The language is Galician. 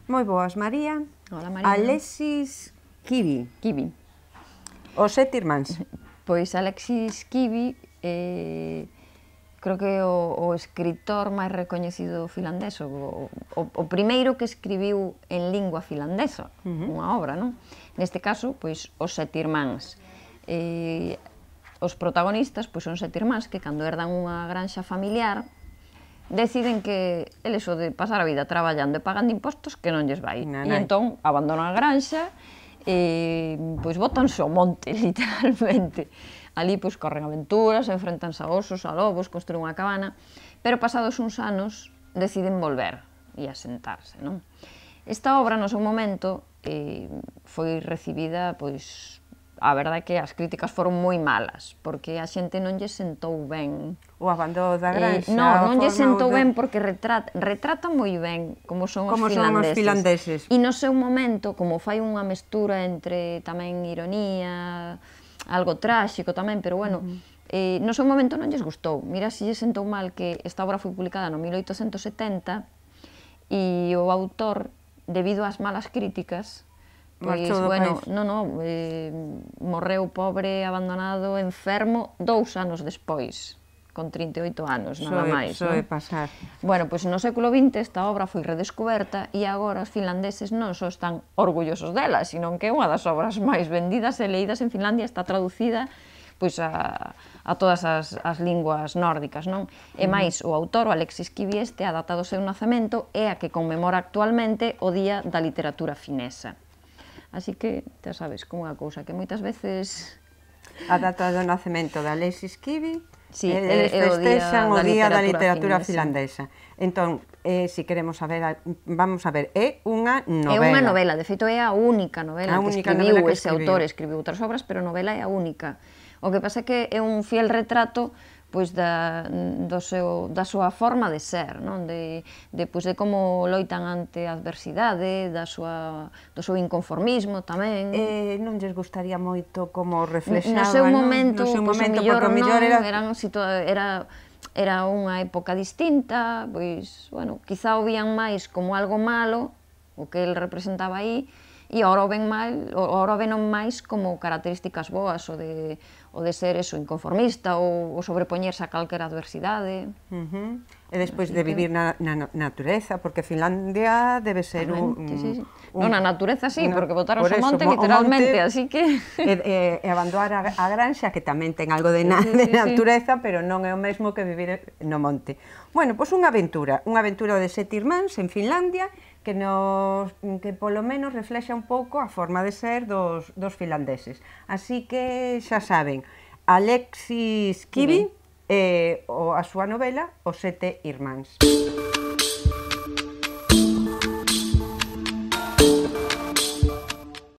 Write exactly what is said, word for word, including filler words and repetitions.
Moi boas, María. Hola, María. Alexis Kivi. Kivi. Os sete irmáns. Pois Alexis Kivi eh, creo que é o, o escritor máis recoñecido finlandés, o, o, o primeiro que escribiu en lingua finlandesa, uh -huh. unha obra, non? Neste caso, pois, os sete irmáns. Eh, os protagonistas pois, son sete irmáns que, cando herdan unha granxa familiar, deciden que eles o de pasar a vida traballando e pagando impostos que non lles vai. E entón abandonan a granxa e pois botanse ao monte, literalmente. Ali pois corren aventuras, enfrentanse a osos, a lobos, construen unha cabana, pero pasados uns anos deciden volver e asentarse, non? Esta obra, no seu momento, eh, foi recibida, pois, a verdade é que as críticas foron moi malas, porque a xente non lle sentou ben. O abandono da granxa. Eh, non, non lle sentou ben porque retrata, retrata moi ben como son os como finlandeses. Son os finlandeses. E no seu momento, como fai unha mestura entre tamén ironía, algo tráxico tamén, pero bueno, uh -huh. eh, no seu momento non lles gustou. Mira se lle sentou mal que esta obra foi publicada no mil oitocentos setenta e o autor, debido ás malas críticas, pois, bueno, non, non, eh, morreu pobre, abandonado, enfermo, dous anos despois, con trinta e oito anos, nada máis. Soe pasar. Bueno, pois no século vinte esta obra foi redescoberta e agora os finlandeses non só están orgullosos dela, sino que é unha das obras máis vendidas e leídas en Finlandia, está traducida pois a, a todas as, as linguas nórdicas, non? E máis, o autor, o Alexis Kivi este, a data do seu nacemento é a que conmemora actualmente o Día da Literatura Finesa. Así que, xa sabes, como é a cousa, que moitas veces... A data do nacemento de Alexis Kivi, sí, eles festexan o Día da Literatura Finlandesa. Entón, eh, si queremos saber, vamos a ver, é unha novela. É unha novela, de feito é a única novela que escribiu ese autor, escribiu outras obras, pero a novela é a única. O que pasa é que é un fiel retrato pois da, do seu, da súa forma de ser, non? De, de, pois, de como loitan ante a adversidade, da súa, do seu inconformismo tamén. Eh, non lles gustaría moito como reflexaba, no seu momento, no seu pois, momento, o mellor porque o mellor non, era... Eran era, era unha época distinta, pois, bueno, quizá o vían máis como algo malo, o que el representaba aí, e agora o ven mal, agora o ven máis como características boas, o de, o de ser eso, inconformista, ou, o sobrepoñerse a calquera adversidade. Uh -huh. E despois de vivir na, na natureza, porque Finlandia debe ser un... Sí, sí, sí. un non, na natureza sí, porque botaron por o monte literalmente, monte, así que... E, e, e abandonar a, a granxa, que tamén ten algo de, na, sí, sí, de natureza, sí. Pero non é o mesmo que vivir no monte. Bueno, pois unha aventura, unha aventura de sete irmáns en Finlandia, que, nos, que polo menos reflexa un pouco a forma de ser dos, dos finlandeses. Así que xa saben, Alexis Kivi, eh, o, a súa novela Os sete irmáns.